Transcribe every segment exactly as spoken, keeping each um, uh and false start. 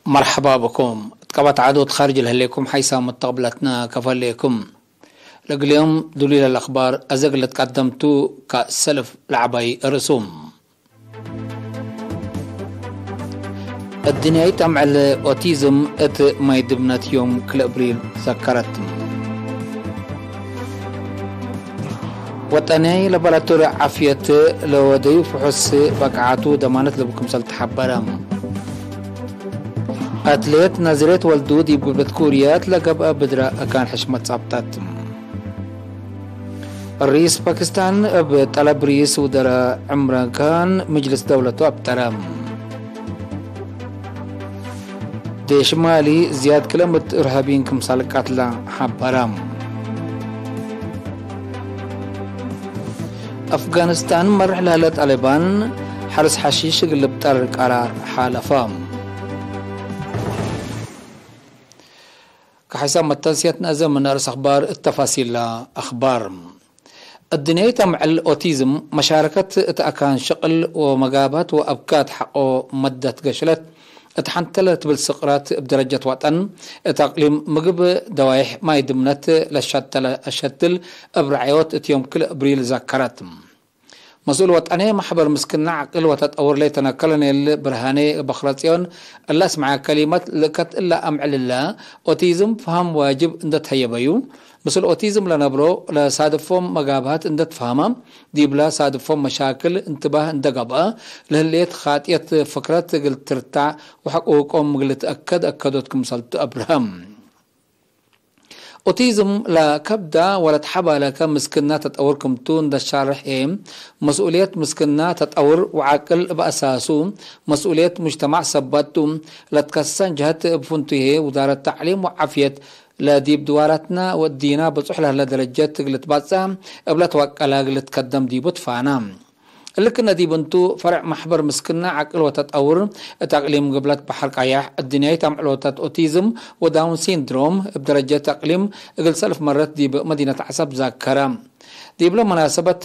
መርሐባ ብኩም። እት ቀበት ዐዶት ካርጅ ለህሌኩም ሐይሳም ተቅብለትነ ከፈሌኩም። ለእግልዮም ዱሉይ ለለአክባር አዘግ ለትቀደምቱ ከሰልፍ ለዐባይ ርእሱም። እድንያይት አምዕል ኦቲዝም እት ማይ ድብነት ዮም ክል እብሪል ዘከረት። ወጠንያይ ለባራቶሪ ዓፍየት ለወደዩ ፍሑስ በቅዓቱ ደማነት ለቡ ክምሰል ተሐበረ። አትሌት ናዝሬት ወልዱ ዲብ ጉብለት ኩርያት ለገብአ ብድረ አካን ሕሽመት ጻብጠት። ርኢስ ፓኪስታን እብ ጠለብ ርኢስ ውደረ ዕምራን ካን ምጅልስ ደውለቱ አብጠረ። ዴሽ ማሊ ዝያድ ክለምት እርሃቢን ክምሳል ቀትለ ሐበረ። አፍጋኒስታን መርሕ ለህለ ጣሊባን ሐርስ ሐሺሽ እግል ልብጠር ቀራር ሓለፈ። ከሐይሳም መተንስየት ነአዘ ምን አርእስ አኽባር እት ተፋሲል አኽባር። እድንያይት አምዕል ኦቲዝም መሻረከት እት አካን ሽቅል ወመጋብሀት ወአብካት ሐቆ መደት ገሽለት እት ሐንተ ለትብል ስቅራት እብ ደረጀት ወጠን እት አቅሊም ምግብ ደዋይሕ ማይ ድምነት ለሸተለ አሸትል እብ ረዐዮት እት ዮም ክል እብሪል ዘከረት። መስኡል ወጠኔ መሕበር ምስክና ዐቅል ወተጠውር ሌተነ ኮሎኔል ብርሃኔ በክረጽዮን እለ አስመዐ ከሊመት ልእከት እለ አምዕል እለ ኦቲዝም ፈሀም ዋጅብ እንደ ተሀየበዩ፣ ምስል ኦቲዝም ለነብሮ ለሳድፎም መጋብሀት እንደ ትፈሀመ፣ ዲብለ ሳድፎም መሻክል እንትባህ እንደ ገብአ፣ ለህሌት ኻጥየት ፍክረት እግል ትርታዕ ወሐቁቆም እግል ልትአከድ አከዶት ክምሰልቱ አብርሀም። ኦቲዝም ለከብዳ ወለትሐባለከ ምስክና ተጠውር ክምቱ እንደ ሻርሕ ህዬ፣ መስኡልየት ምስክና ተጠውር ወዐቅል እብ አሳሱ መስኡልየት ሙጅተማዕ ሰበት ቱ፣ ለትከሰሰን ጀሀት እብ ፍንቱይ ህዬ ውዛረት ተዕሊም ወዓፍየት ለዲብ ድዋራትና ወእዲና ብጹሕ ለህለ ደረጀት እግል ልትባጽዕ እብ ለትወቀለ እግል ልትከደም ዲቡ ትፋና። እሊ ክነ ዲብ እንቱ፣ ፈርዕ መሕበር ምስክና ዐቅል ወተጠውር እት አቅሊም ግብለት በሐር ቀያሕ፣ እድንያይት አምዕሎታት ኦቲዝም ወዳውን ሲንድሮም እብ ደረጀት አቅሊም እግል ሰልፍ መረት ዲብ መዲነት ዐሰብ ዛከረ። ዲብለ መናሰበት፣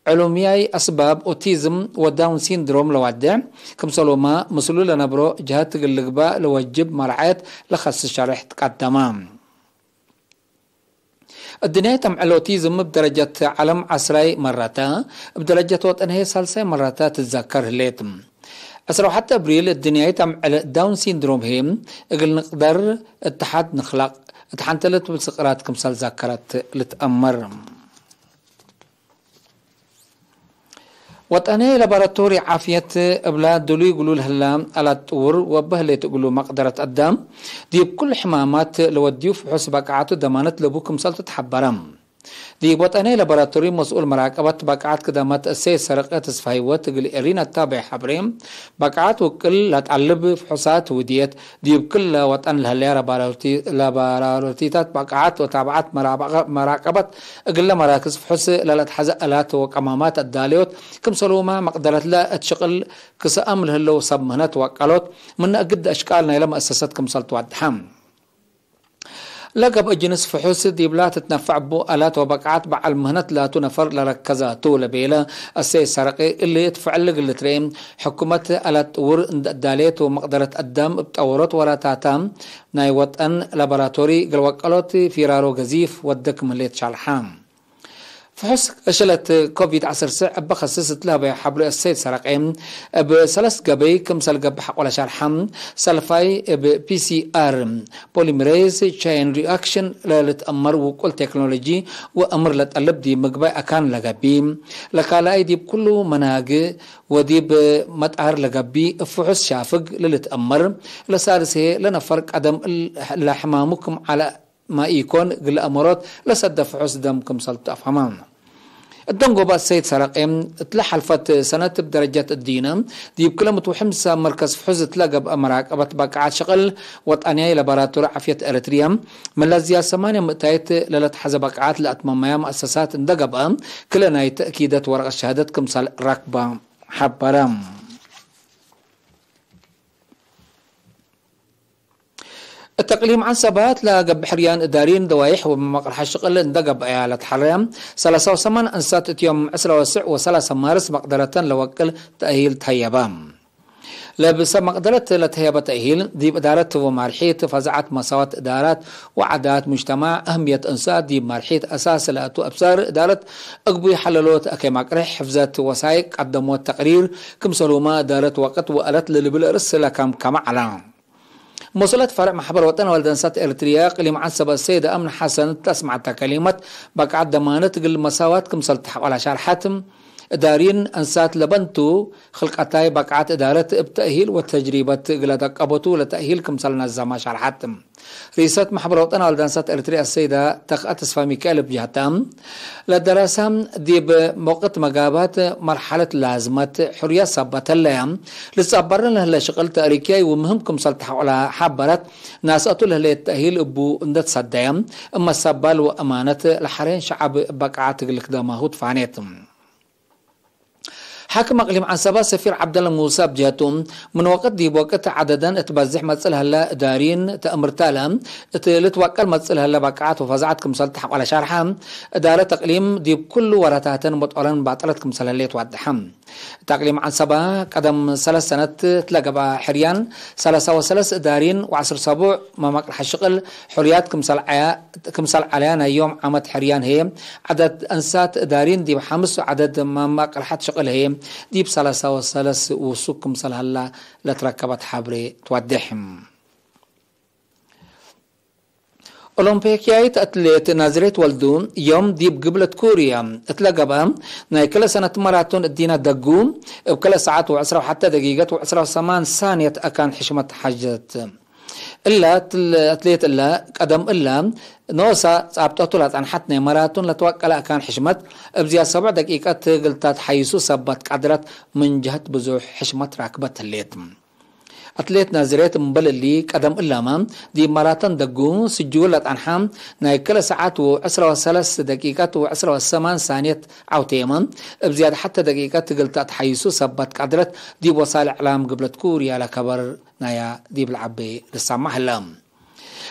ዕሉምያይ አስባብ ኦቲዝም ወዳውን ሲንድሮም ለዋዴዕ፣ ክምሰሎማ ምስሉ ለነብሮ ጀሀት እግል ልግባእ ለወጅብ መርዓየት ለከስስ ሸሬሕ ትቀደመ። እድንያይት አምዕል ኦቲዝም እብ ደረጀት ዐለም ዐስራይ መረተ፣ እብ ደረጀት ወጠን ህዬ ሳልሳይ መረተ ትትዘከር ህሌት። ዕስራ ወሐተ እብሪል እድንያይት አምዕል ዳውን ሲንድሮም ህዬ እግል ንቅደር እተሓድ ንክለቅ እት ሐንተ ለትብል ስቅራት ክምሰል ዘከረት ልትአመር። ወጠኔ ለባራቶሪ ዓፍየት እብላ ድሉይ እግሉ ለህላ አላት ጥውር ወበህሌት እግሉ መቅደረት አዳም ዲብ ኩሉ ሕማማት ለወድዩ ፍሑስ በቃዓቱ ደማነት ለቡ ክምሰልቱ ተሐበረ። ዲብ ወጠኔ ለባራቶሪ መስኡል መራቀበት በቃዓት ክዳማት እሰይ ሰረቀ ተስፋ ህይወት እግል ኤሪን አታቤ ሐብሬ፣ በቃዓት ውቅል ለጠልብ ፍሑሳት ውድየት ዲብ ክለ ወጠን ለህለያ ለባራሮቲ-፣ ለባራሮቲታት በቃዓት ወታብዓት መራበቀ-፣ መራቀበት እግለ መራክዝ ፍሑስ ለለትሐዘ አላት ወቀማማት አዳለዮት፣ ክምሰሉመ መቅደረትለ እት ሽቅል ክሰአም ለህለው ሰብ ምህነት ወቀሎት፣ ምነ እግድ አሽቃል ናይለ መአሰሰት ክምሰል ትወድሐ። ለገብአ ጅንስ ፍሑስ ዲብላ ትትነፈዕ እቡ አላት ወበቃዓት በዐል ምህነት ላቱ ነፈር ለረከዛቱ ለቤለ አሰይ ሰረቂ እሊ እት ፍዕል እግል ልትርኤ፣ ሕኩመት አላት ጥውር እንደ አዳሌት ወመቅደረት አዳም እብ ጠወሮት ወራታታ ናይ ወጠን ላቦራቶሪ እግል ወቀሎት ፊራሮ ገዚፍ ወደ ክም ህሌት ሻልሓ። ፍሑስ እሸለት ኮቪድ ዐሰርተ እበ ከስስ እት ለሀበየ ሐብሩ አሰይድ ሰረቄ፣ እብ ሰለስ ገበይ ክምሰል ገብእ ሐቆለ ሸርሐ፣ ሰልፋይ እብ ፒ ሲ አር፣ ፖሊመሬዝ ቼን ሪአክሽን፣ ለልትአመር ውቁል ቴክኖሎጂ ወአምር ለጠልብ ዲብ ምግባይ አካን ለገብእ፣ ለካልኣይ ዲብ ኩሉ መናግ ወዲብ መጣር ለገብእ እብ ፍሑስ ሻፍግ ለልትአመር፣ ለሳልስ ህዬ ለነፈር ቀደም ለሕማሙ ክም ዐለ ማኢኮን እግል አመሮት ለሰደ ፍሑስ ደም ክምሰልቱ አፍሀመ። እት ደንጎበ አሰይድ ሰረቄ፣ እትለ ሐልፈት ሰነት እብ ደረጀት እዲነ ዲብ ክለ ምትውሕም ሰብ መርከዝ ፍሑስ እትለ ገብአ መራቀበት በቃዓት ሽቅል ወጠንያይ ላቦራቶሪ ዓፍየት ኤረትርየ፣ ምን ለዝያድ ሰማንየ ምእታይት ለለትሐዘ በቃዓት ለአትመመያ መአሰሳት እንደ ገብአ፣ ክለ ናይ ተእኪደት ወረቀት ሸሃደት ክምሰል ረክበ ሐበረ። እት አቅሊም ዐንሰባት ለገብእ ሕርያን እዳሪን ደዋይሕ ወመቅርሐ ሽቅል እንደ ገብአያ ለትሐረየ ሰላሳ ወሰማን አንሳት እት ዮም ዕስራ ወስዕ ወሰላሳ ማርስ መቅደረተን ለወቅል ተእሂል ተሀየበ። ለብሰብ መቅደረት ለተህየበ ተእሂል፣ ዲብ እዳረት ወማርሒት ፈዛዐት መሳዋት እዳራት ወዓዳት ሙጅተማዕ፣ አህምየት እንሳት ዲብ ማርሒት አሳስ ለአቱ አብሳር እዳረት እግቡይ ሐለሎት አኬ ማቅርሕ፣ ሕፍዘት ወሳይቅ ቀደሞት ተቅሪር፣ ክምሰልሁመ እዳረት ወቅት ወአለት ለልብል ርእስ ለከምከመ ዐለ። መስኡለት ፈርዕ ማሕበር ወጠን ወልደንሳት ኤርትርየ ቅሊም ዐንሰበ ሰይድ አምን ሐሰን እት ለአስመዐተ ከሊመት፣ በቃዐት ደማነት እግል መሳዋት ክምሰል ተሐቆላ ሻርሐት፣ እዳሪን አንሳት ለበንቱ፣ ክልቀታይ በቃዐት እዳረት እብ ተእሂል ወተጅሪበት እግለ ደቀበቱ ለተእሂል ክምሰል ነዘመ ሻርሐት። ርኢሰት ማሕበር ወጠን ወልደንሳት ኤርትርየ አሰይዳ ተክአ ተስፋ ሚካኤል እብ ጀህታ፣ ለደረሰ ዲብ ወቅት መጋባት መርሐለት ላዝመት ሕርየት ሰበት ህለየ፣ ልትጸበረን ለህለ ሽቅል ተእሪክያይ ወምህም ክምሰል ተሐቆለ ሐበረት፣ ናስአቱ ለህሌት ተእሂል እቡ እንደ ትሰደየ፣ እመ ሰባል ወአማነት ለሐሬን ሸዐብ በቃዐት እግል ክደማሁ ትፋኔት። ሓክም አቅሊም ዐንሰበ ሰፊር ዐብደለ ሙሰ እብ ጀህቱ፣ ምን ወቅት ዲብ ወቅት ዐደደን እት በዝሕ መጽእ ለህለ እዳሪን ተእምርተ እለ፣ እት ልትወቀል መጽእ ለህለ በቃዐት ወፈዛዐት ክምሰል ተሐቆለ ሸርሐ፣ እዳረት እቅሊም ዲብ ኩሉ ወረታተን መጦረን ባጥረት ክምሰል ህሌት ወደሐ። እት አቅሊም ዐንሰበ ቀደም ሰለስ ሰነት እት ለገብአ ሕርያን፣ ሰለሳ ወሰለስ እዳሪን ወዐስር ሰቡዕ መማቅርሐ ሽቅል ሕርያት ክምሰል ዐያ-፣ ክምሰል ዐለያ ናይ ዮም ዓመት ሕርያን ህዬ፣ ዐደድ አንሳት እዳሪን ዲብ ሐምስ ወዐደድ መማቅርሐት ሽቅል ህዬ ዲብ ሰለሳ ወሰለስ ውሱክ ክምሰል ሀላ ለትረከበት ሐብሬ ትወዴሕ። ኦሎምፒክያይት አትሌት ናዝሬት ወልዱ፣ ዮም ዲብ ግብለት ኩርያ እት ለገብአ ናይ ክለ ሰነት ማራቶን እዲነ ደጉ፣ እብ ክለ ሰዓት ወዕስራ ወሐተ ደቂቀት ወዕስራ ወሰማን ሳንየት አካን ሕሽመት ሐዘት። እላ እት-፣ አትሌት እላ፣ ቀደም እላ፣ ኖሳ ጻብጠቱ ለጸንሐት ናይ ማራቶን ለትወቀለ አካን ሕሽመት፣ እብ ዝያድ ሰብዕ ደቂቀት እግል ተትሐይሱ ሰበት ቀድረት፣ ምን ጀህት ብዙሕ ሕሽመት ራክበት ህሌት። አትሌት ናዝሬት እምበል እሊ፣ ቀደም እላመ ዲብ ማራቶን ደጉ ስጁል ለጠንሐ ናይ ክለ ሰዓት ወዕስራ ወሰለስ ደቂቀት ወዕስራ ወሰማን ሳንየት ዐውቴመ፣ እብ ዝያድ ሐተ ደቂቀት እግል ተአትሐይሱ ሰበት ቀድረት፣ ዲብ ወሳል እዕላም ግብለት ኩርያ ለከበር ናያ ዲብ ለዐቤ ልሰማ ህለ።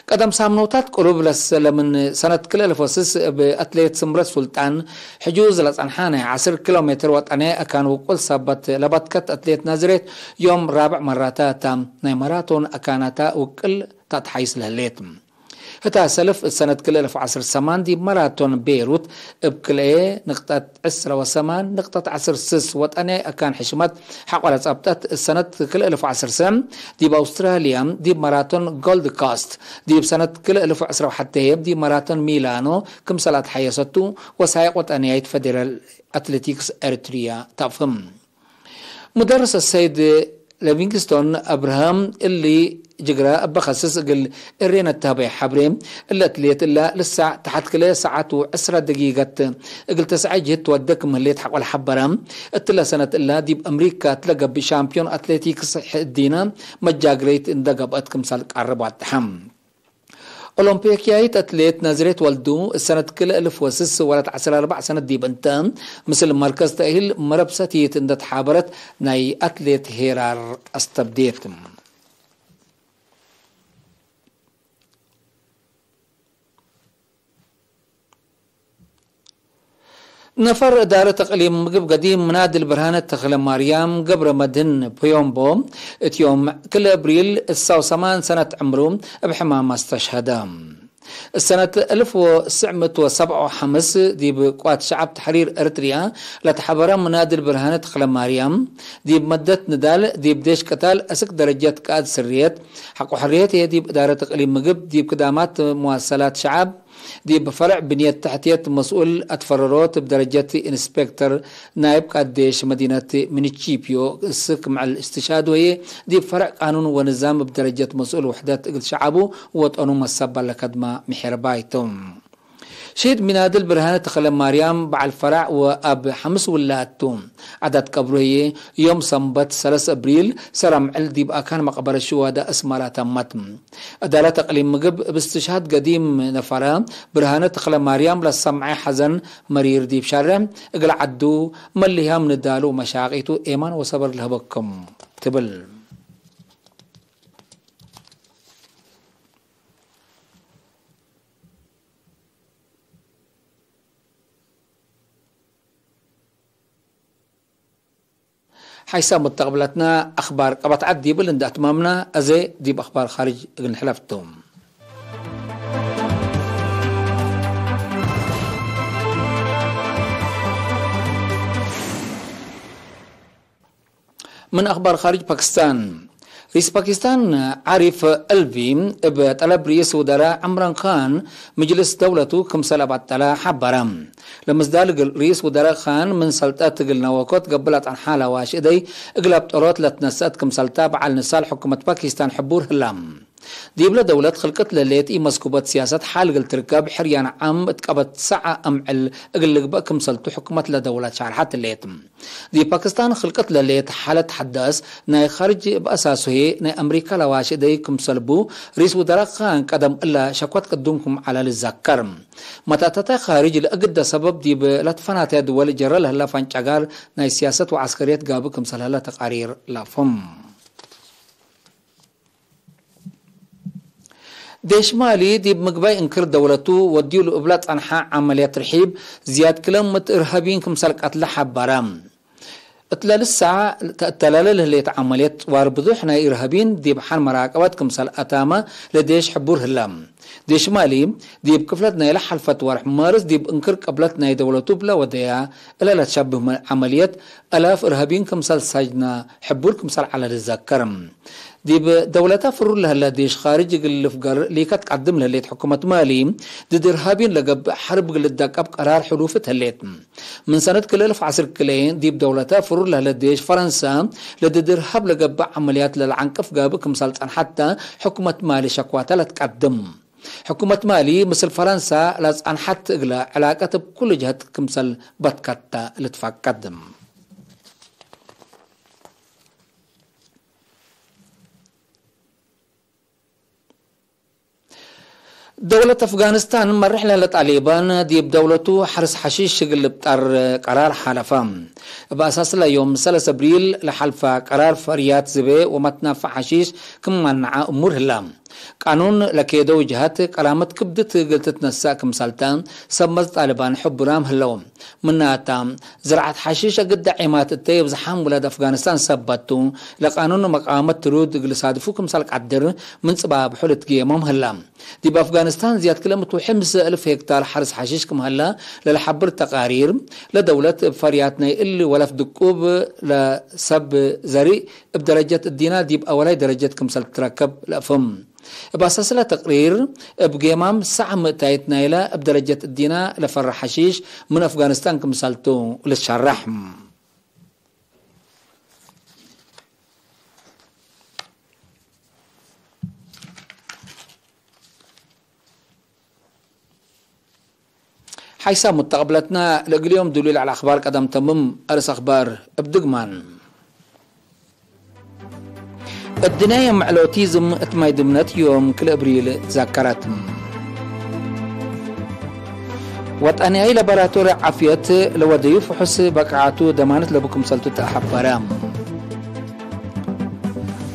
ቀደም ሳምኖታት ቅሩብ ለሰለ ምን ሰነት ክልኤ እልፍ ወስስ እብ አትሌት ስምረት ሱልጣን ሕጁዝ ለጸንሐ ናይ ዐስር ኪሎ ሜትር ወጠንየ አካን ውቁል ሰበት ለበትከት አትሌት ናዝሬት ዮም ራብዕ መራታ እታ ናይ ማራቶን አካናታ ውቅል ተአትሓይስ ለህሌት። ህታ ሰልፍ እት ሰነት ክልኤ እልፍ ወዐስር ሰማን ዲብ ማራቶን ቤሩት እብ ክልኤ ንቅጠት ዕስረ ወሰማን ንቅጠት ዐስር ስስ ወጠንየ አካን ሕሽመት ሐቆለ ጸብጠት። እት ሰነት ክልኤ እልፍ ወዐስር ሰም ዲብ አውስትራልያ ዲብ ማራቶን ጎልድ ኮስት፣ ዲብ ሰነት ክልኤ እልፍ ወዐስረ ወሐቴ ህዬ ዲብ ማራቶን ሚላኖ ክምሰል አትሐየሰቱ ወሳይቅ ወጠንያይት ፌዴራል አትሌቲክስ ኤሪትሪያ ተአፍህም። ሙደርስ አሰይድ ሊቪንግስቶን አብርሃም እሊ ጅግረ እበ ከስስ እግል እሬ ነተህበየ ሐብሬ፣ እለ አትሌት እለ ልሳዕ ተሐት ክልኤ ሰዓት ወዕስረ ደቂቀት እግል ተስዐ ጅህት ትወዴ ክም ህሌት ሐቆለ ሐበረ። እትለ ሰነት እለ ዲብ አምሪካ እትለ ገብእ ሻምፒዮን አትሌቲክስ እዲነ መጃግረይት እንደ ገብአት ክምሰል ቀርብ ወደሐ። ኦሎምፒክያይት አትሌት ናዝሬት ወልዱ፣ እት ሰነት ክልኤ እልፍ ወስስ ወለት ዐስር አርበዕ ሰነት ዲብ እንተ፣ ምስል መርከዝ ተእሂል መረብ ሰቲት እንደ ተሓበረት ናይ አትሌት ሄራር አስተብዴት። ነፈር እዳረት እቅሊም ምግብ ገዲም ምናድል ብርሃነ ተክለማርያም ገብረመድህን ፖዮምቦ፣ እት ዮም ክልኤ እብሪል እሳው ሰማን ሰነት ዕምሩ እብ ሕማም አስተሽሀደ። እሰነት እልፍ ወትስዕ ምእት ወሰብዓ ወሐምስ ዲብ ቅዋት ሸዐብ ተሕሪር ኤረትርያ ለተሐበረ ምናድል ብርሃነ ተክለማርያም፣ ዲብ መደት ንዳል ዲብ ዴሽ ቅታል አስክ ደረጀት ቃእድ ስርየት፣ ሐቆ ሕርየት ህዬ ዲብ እዳረት እቅሊም ምግብ ዲብ ክዳማት መዋሰላት ሸዐብ፣ ዲብ ፈርዕ ብንየት ተሕትየት መስኡል አትፈረሮት እብ ደረጀት ኢንስፔክተር ናይብ ቃዴሽ መዲነት ሚኒቺፒዮ እስክ ምዕል እስትሽሃዱ ህዬ፣ ዲብ ፈርዕ ቃኑን ወንዛም እብ ደረጀት መስኡል ውሕደት እግል ሸዐቡ ወወጠኑ መሰባል ለከድማ ምሔርባይ ቱ። ሺድ ሚናድል ብርሃነ ተክለማርያም በዐል ፈራዕ ወአብ ሐምስ ውላድ ቱ። ዓዳት ቀብሩ ህዬ ዮም ሰንበት ሰለስ እብሪል ሰረ ምዕል ዲብ አካን መቅበረት ሽዋዳ እስማራ ተመት። እዳለት እቅሊም ምግብ እብ እስትሽሃድ ገዲም ነፈረ ብርሃነ ተክለማርያም ለሰምዐ ሐዘን መሪር ዲብ ሻርዕ እግል ዐዱ መልህያም ንዳሉ ወመሻቂቱ ኤማን ወሰበር ለህበኩም ትብል። ሓይሳም ሙተቅብለትና አክባር ቀበት ዐድ ዲብል እንዴ አትማምና፣ አዜ ዲብ አክባር ካርጅ እግል ንሕለፍ ቱ። ምን አክባር ካርጅ ፓኪስታን። ሪስ ፓኪስታን ዓሪፍ አልቪ እብ ጠለብ ርኢስ ውደራ ዕምራን ካን ምጅልስ ደውለቱ ክምሰል አባጠለ ሐበረ። ለምስዳል እግል ርኢስ ውደራ ካን ምን ሰልጠት እግል ነወኮት ገብእ ለጸንሐ ለዋሽ እደይ እግል አብጠሮት ለትነሰአት ክምሰልታ በዓል ንሳል ሕኩመት ፓኪስታን ሕቡር ህላ። ዲብለ ደውለት ክልቅት ለሌት ኢመስኩበት ሲያሰት ሓል እግል ትርከብ ሕርያን ዓም እት ቀበት ሰዐ አምዕል እግል ልግበእ ክምሰልቱ ሕኩመት ለደውለት ሻርሐት ሌት። ዲብ ፓኪስታን ክልቅት ለሌት ሓለት ሐዳስ ናይ ካርጅ እብ አሳሱ ህዬ ናይ አምሪካ ለዋሽ እደይ ክምሰል ቡ፣ ርኢስ ውደራ ካን ቀደም እለ ሸክወት ቅዱም ክም ዐለ ልዘከር። መታተታይ ካርጅ ለእግደ ሰበብ ዲብ ለትፈናተየ ድወል ጀረ ለህለ ፈንጨጋር ናይ ሲያሰት ወዐስከርየት ጋብእ ክምሰል ህለ ተቃሪር ለአፍህም። ዴሽ ማሊ ዲብ ምግባይ እንክር ደውለቱ ወድዩ ለእብላ ጸንሐ ዐመልየት ርሒብ ዝያድ ክለ ምእት እርሀቢን ክምሰል ቀትለ ሐበረ። እትለ ልሳዕ ተአተላለ ለህሌት ዐመልየት ጽዋር ብዙሕ ናይ እርሀቢን ዲብ ሐን መራቀበት ክምሰል አታመ ለዴሽ ሕቡር ህለ። ዴሽ ማሊ ዲብ ክፍለት ናይለ ሐልፈት ወርሕ ማርስ ዲብ እንክር ቅብለት ናይ ደውለቱ እብለ ወደያ እለ ለትሸብህ ዐመልየት አላፍ እርሀቢን ክምሰል ሳጅነ ሕቡር ክምሰል ዐለ ልዘከር። ዲብ ደውለተ ፍሩር ለህለ ዴሽ ካርጅ እግል ልፍገር ሊከት ቀድም ለህሌት ሕኩመት ማሊ፣ ድድ እርሃቢን ለገብእ ሐርብ እግል ልደቀብ ቀራር ሕሉፍት ህሌት። ምን ሰነት ክልኤ እልፍ ዐስር ክልኤ ዲብ ደውለተ ፍሩር ለህለ ዴሽ ፈረንሰ፣ ለድድ እርሃብ ለገብእ ዐመልያት ለለዐንቅፍ ጋብእ ክምሰል ጸንሐተ ሕኩመት ማሊ ሸክዋተ ለትቀድም። ሕኩመት ማሊ ምስል ፈረንሰ ለጸንሐት እግለ ዕላቀት እብ ኩሉ ጀህት ክምሰል በትከተ ልትፈቀድ። ደውለት አፍጋኒስታን መርሕ ለህለ ጣሊባን ዲብ ደውለቱ ሐርስ ሐሺሽ እግል ልብጠር ቀራር ሓለፈ። እብ አሳስለ ዮም ሰለስ አብሪል ለሐልፈ ቀራር ፈርያት ዝቤ ወመትናፈዕ ሐሺሽ ክም ማንዐ እሙር ህለ። ቃኑን ለኬደው ጀሀት ቀራመት ክብድት እግል ትትነሰእ ክምሰልተ ሰብ መዝ ጣሊባን ሕቡራም ህለው። ምናተ፣ ዝርዓት ሐሺሽ እግደ ዔማት እተ የብዝሓም ውላድ አፍጋኒስታን ሰበት ቱ፣ ለቃኑን መቃወመት ትሩድ እግል ሳድፉ ክምሰል ቀድር ምን ጽባብሑ ልትግየሞም ህለ። ዲብ አፍጋኒስታን ዝያድ ክለ ምእት ወሐምስ እልፍ ሄክታር ሐርስ ሐሺሽ ክም ሀለ ለለሐብር ተቃሪር፣ ለደውለት እብ ፈርያት ናይ እሊ ወለፍ ድቁብ ለሰብ ዘሪእ እብ ደረጀት እዲና ዲብ አወላይ ደረጀት ክምሰል ትትረከብ ለአፍህም። እብ አሳስለ ተቅሪር፣ እብ ጌማም ሳዕ ምእታይት ናይለ እብ ደረጀት እዲና ለፈረ ሐሺሽ ምን አፍጋኒስታን ክምሰልቱ ልትሸረሕ። ሓይሳም ሙተቅብለትና፣ ለእግል ዮም ዱሉይ ለዐለ አክባር ቀደም ተምም። አርስ አክባር እብ ድግማን። እድንያም ዕለ ኦቲዝም እት ማይ ድምነት ዮም ክልኤ እብሪል ዛከረት። ወጠንያይ ለቦራቶሪ ዓፍየት ለወደዩ ፍሑስ በቃዓቱ ደማነት ለቡ ክምሰልቱ ተአሐበረ።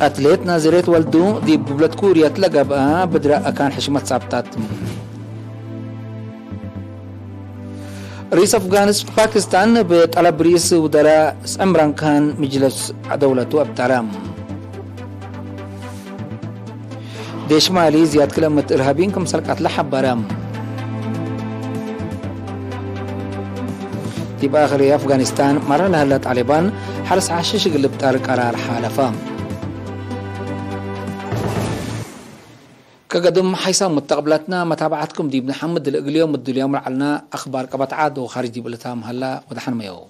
አትሌት ናዝሬት ወልዱ ዲብ ግብለት ኩርየት ለገብአ ብድረ አካን ሕሽመት ሳብጣት። ርኢስ አፍጋኒስታን ፓኪስታን እብ ጠለብ ርኢስ ውደራ ዕምራን ካን ምጅለስ ደውለቱ አብጠረ። ዴሽ ማሊ ዝያድ ክለ ምእት እርሃቢን ክምሰል ቀትለ ሐበረ። ዲብ አክር አፍጋኒስታን መረ ለህለ ጣሊባን ሐርስ ሐሽሽ እግል ልብጠር ቀራር ሓለፈ። ከገድም ሓይሳም ሙተቅብላትና መታብዐትኩም ዲብ ነሐምድ። ለእግል ዮም እድል ዮም ለዐልና አክባር ቀበት ዐድ ወካርጅ ዲብ እልታም ሀላ ወደሐን መየው።